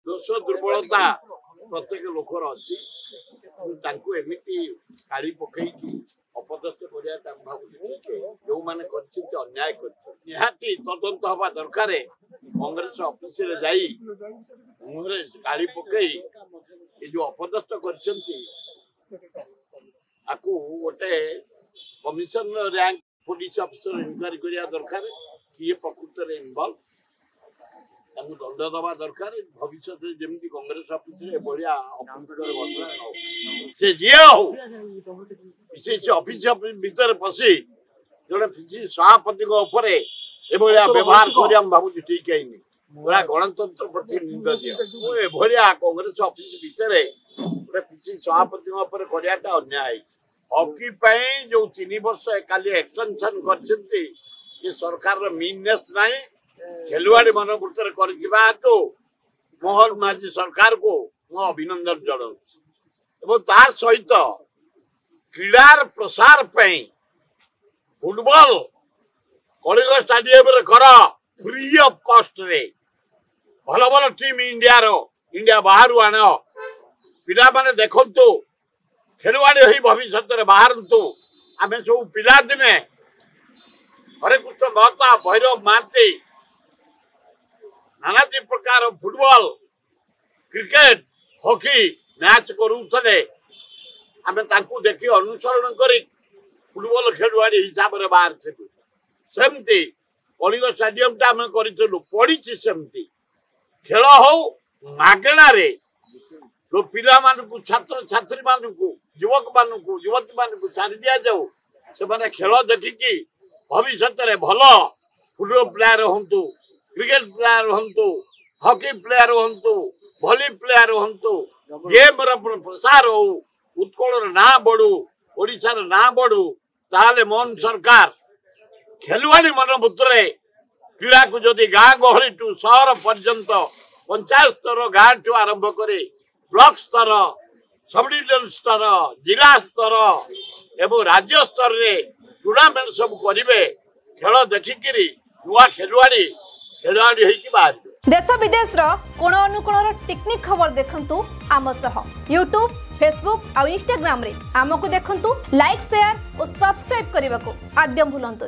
ଦୋଷ ଦୁର୍ବଳତା ପ୍ରତ୍ୟେକ ଲୋକର ଅଛି, ତାଙ୍କୁ ଏମିତି କାଳି ପକେଇକି ଅପଦସ୍ଥ କରିବାଟା ମୁଁ ଭାବୁଛି ଠିକ। ଯୋଉମାନେ କରିଛନ୍ତି ଅନ୍ୟାୟ କରିଛନ୍ତି, ନିହାତି ତଦନ୍ତ ହବା ଦରକାର। କଂଗ୍ରେସ ଅଫିସରେ ଯାଇ ମୁହଁରେ ଗାଳି ପକେଇ ଏ ଯୋଉ ଅପଦସ୍ଥ କରିଛନ୍ତି, ଆକୁ ଗୋଟେ commissioner rank police officer inquiry କରିବା ଦରକାର, କିଏ ପ୍ରକୃତରେ ଇନଭଲ୍ଭ, ତାଙ୍କୁ ଦଣ୍ଡ ଦେବା ଦରକାର। ଭବିଷ୍ୟତରେ ଯେମିତି କଂଗ୍ରେସ ଅଫିସରେ ଏଭଳିଆ ଅପ୍ରୀତିକର ଘଟଣା ନ ହଉ। ସେ ଯିଏ ହଉ, ପିସିସି ଅଫିସ ଭିତରେ ପଶି ଜଣେ ପିସିସି ସଭାପତିଙ୍କ ଉପରେ ଏଭଳିଆ ବ୍ୟବହାର କରିବା ମୁଁ ଭାବୁଛି ଠିକ ହେଇନି। ପୁରା ଗଣତନ୍ତ୍ର ପ୍ରତି ନିନ୍ଦନୀୟ। ମୁଁ ଏଭଳିଆ କଂଗ୍ରେସ ଅଫିସ ଭିତରେ ଗୋଟେ ପିସିସି ସଭାପତିଙ୍କ ଉପରେ କରିବାଟା ଅନ୍ୟାୟ। ହକି ପାଇଁ ଯୋଉ 3 ବର୍ଷ କାଲି ଏକ୍ସଟେନସନ କରିଛନ୍ତି, ଏ ସରକାରର ମିନନେସ୍ ନାହିଁ, ଖେଲୁଆଡି ମନୋବୃତ୍ତିରେ କରିଥିବା ହେତୁ ମୋହନ ମାଝୀ ସରକାରକୁ ମୁଁ ଅଭିନନ୍ଦନ ଜଣାଉଛି। ଏବଂ ତା ସହିତ କ୍ରୀଡ଼ାର ପ୍ରସାର ପାଇଁ ଫୁଟବଲ କଳିଙ୍ଗ ଷ୍ଟାଡିୟମରେ କର, ଫ୍ରି ଅଫ କଷ୍ଟରେ। ଭଲ ଭଲ ଟିମ୍ ଇଣ୍ଡିଆର, ଇଣ୍ଡିଆ ବାହାରୁ ଆଣ, ପିଲାମାନେ ଦେଖନ୍ତୁ, ଖେଳୁଆଡ଼ି ହୋଇ ଭବିଷ୍ୟତରେ ବାହାରନ୍ତୁ। ଆମେ ସବୁ ପିଲାଦିନେ ହରେକୃଷ୍ଣ ମହତା, ଭୈରବ ମହାନ୍ତି, ନାନାଦି ପ୍ରକାର ଫୁଟବଲ, କ୍ରିକେଟ, ହକି ମ୍ୟାଚ୍ କରୁଥିଲେ। ଆମେ ତାଙ୍କୁ ଦେଖି ଅନୁସରଣ କରି ଫୁଟବଲ ଖେଳୁଆଡ଼ି ହିସାବରେ ବାହାରିଥିଲୁ। ସେମିତି କଳିଙ୍ଗ ଷ୍ଟାଡିୟମଟା ଆମେ କରିଥିଲୁ, ପଡ଼ିଛି, ସେମିତି ଖେଳ ହଉ ମାଗଣାରେ। ପିଲାମାନଙ୍କୁ, ଛାତ୍ରଛାତ୍ରୀମାନଙ୍କୁ, ଯୁବକମାନଙ୍କୁ, ଯୁବତୀମାନଙ୍କୁ ଛାଡ଼ି ଦିଆଯାଉ, ସେମାନେ ଖେଳ ଦେଖିକି ଭବିଷ୍ୟତରେ ଭଲ ଫୁଟବଲ ପ୍ଲେୟାର ହୁଅନ୍ତୁ, କ୍ରିକେଟ ପ୍ଲେୟାର ହୁଅନ୍ତୁ, ହକି ପ୍ଲେୟାର ହୁଅନ୍ତୁ, ଭଲି ପ୍ଲେୟାର ହୁଅନ୍ତୁ, ଗେମ୍ର ପ୍ରସାର ହଉ, ଉତ୍କଳର ନାଁ ବଢୁ, ଓଡ଼ିଶାର ନାଁ ବଢୁ। ତାହେଲେ ମୋହନ ସରକାର ଖେଲୁଆଡ଼ି ମନୋବୃତ୍ତିରେ କ୍ରୀଡ଼ାକୁ ଯଦି ଗାଁ ଗହଳିଠୁ ସହର ପର୍ଯ୍ୟନ୍ତ, ପଞ୍ଚାୟତ ସ୍ତର, ଗାଁଠୁ ଆରମ୍ଭ କରି ବ୍ଲକ ସ୍ତର, ସବଡିଭିଜନ ସ୍ତର, ଜିଲ୍ଲା ସ୍ତର ଏବଂ ରାଜ୍ୟ ସ୍ତରରେ ଟୁର୍ଣ୍ଣାମେଣ୍ଟ ସବୁ କରିବେ, ଖେଳ ଦେଖିକିରି ନୂଆ ଖେଳୁଆଡ଼ି ଖେଳୁଆଡ଼ି ହେଇକି ବାହାରିବେ। ଦେଶ ବିଦେଶର କୋଣ ଅନୁକୋଣର ଟିକ୍ନିକ୍ ଖବର ଦେଖନ୍ତୁ ଆମ ସହ ୟୁଟ୍ୟୁବ୍, ଫେସବୁକ୍ ଆଉ ଇନଷ୍ଟାଗ୍ରାମରେ ଆମକୁ ଦେଖନ୍ତୁ। ଲାଇକ୍, ସେୟାର ଓ ସବସ୍କ୍ରାଇବ୍ କରିବାକୁ ଆଦ୍ୟ ଭୁଲନ୍ତୁନି।